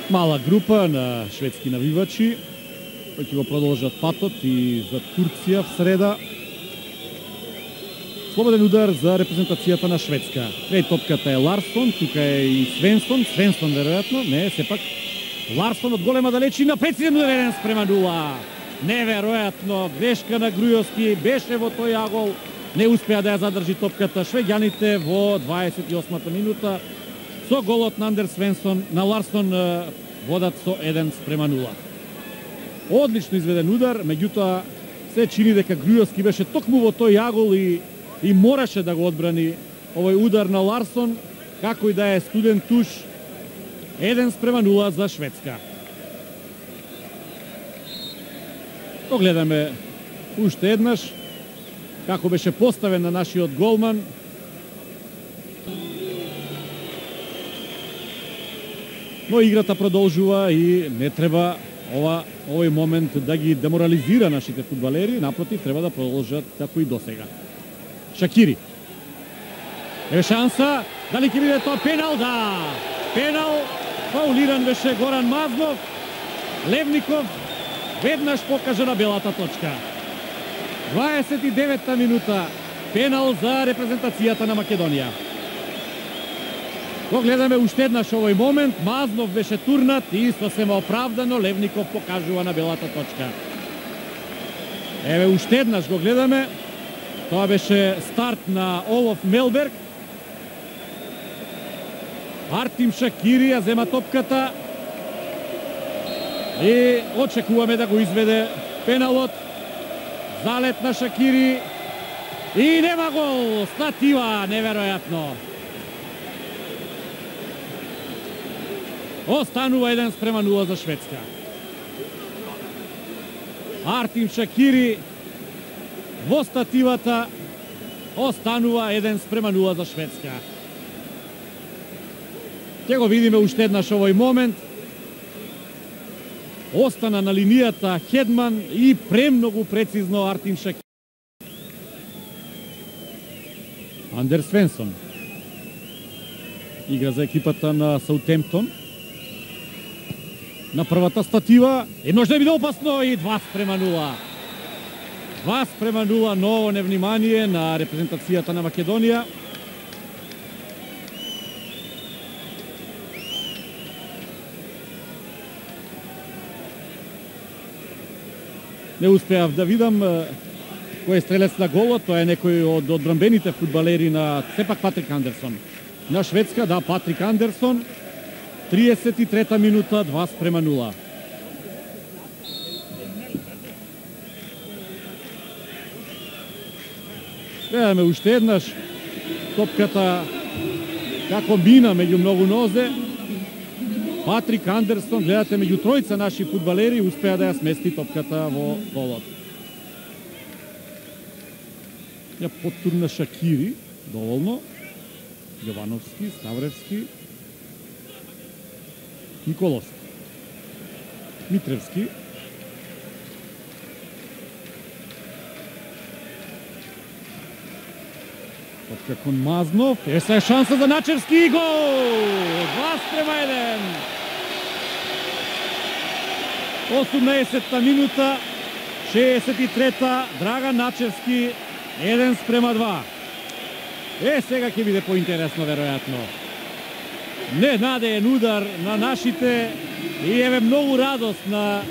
Мала група на шведски навивачи кои ќе го продолжат патот и за Турција в среда. Слободен удар за репрезентацијата на Шведска. Край топката е Ларсон, тука е и Свенсон, веројатно, не, сепак Ларсон од голема далечина, прецизен удар 1:0. Неверојатно, грешка на Грујовски, беше во тој агол, не успеа да ја задржи топката швеѓаните во 28-та минута. Со голот на Андер Свенсон, на Ларсон водат со 1:0. Одлично изведен удар, меѓутоа се чини дека Грујовски беше токму во тој агол и мораше да го одбрани овој удар на Ларсон, како и да е студен туш. 1:0 за Шведска. Погледаме уште еднаш како беше поставен на нашиот голман. Но играта продолжува и не треба овој момент да ги деморализира нашите фудбалери, напротив, треба да продолжат како и досега. Шакири. Еве шанса, дали ќе биде тоа пенал? Да! Пенал, фаулиран беше Горан Мазнов. Левников веднаш покажа на белата точка. 29-та минута, пенал за репрезентацијата на Македонија. Го гледаме уште еднаш овој момент, Мазнов беше турнат и сосема оправдано Левников покажува на белата точка. Еве уште еднаш го гледаме, тоа беше старт на Олоф Мелберг. Артим Шакири ја зема топката и очекуваме да го изведе пеналот. Залет на Шакири и нема гол, статива, неверојатно. Останува 1:0 за Шведска. Артим Шакири во стативата, останува 1:0 за Шведска. Ќе го видиме уште еднаш овој момент. Остана на линијата Хедман и премногу прецизно Артим Шакири. Андер Свенсон игра за екипата на Саутемптон. На првата статива и може да биде опасно и 2:0. 2:0, ново невнимание на репрезентацијата на Македонија. Не успеав да видам кој е стрелец на голот, тоа е некој од одбранбените фудбалери на сепак Патрик Андерсон. На Шведска, да, Патрик Андерсон. 33-та минута, 2:0. Гледаме уште еднаш топката како мина меѓу многу нозе. Патрик Андерсон, гледате, меѓу тројца наши фудбалери успеа да ја смести топката во голот. Ја поттурна Шакири, доволно. Јовановски, Ставревски, Николовски, Митревски, топка кон Мазнов, еса е шанса за Начевски и гол! 2:1. 18-та минута, 63-та, Драган Начевски, 1:2. Сега ќе биде поинтересно, веројатно. Ненадеен удар на нашите и еве многу радост на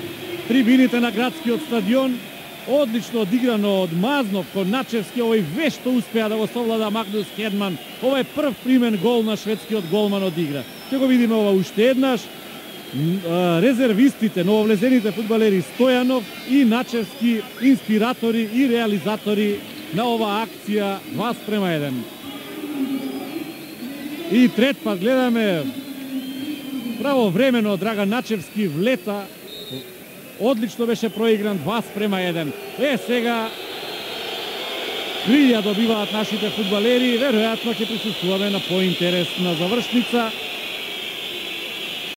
трибините на градскиот стадион. Одлично одиграно од Мазнов кон Начевски, овој вешто успеа да го совлада Магнус Хедман. Ова е прв примен гол на шведскиот голман од игра. Ќе го видиме ова уште еднаш. Резервистите, нововлезените фудбалери Стојанов и Начевски, инспиратори и реализатори на оваа акција 2:1. И трет пат гледаме правовремено Драган Начевски влета. Одлично беше проигран 2:1. Сега крија добиваат нашите фудбалери. Веројатно ќе присуствуваме на поинтересна завршница.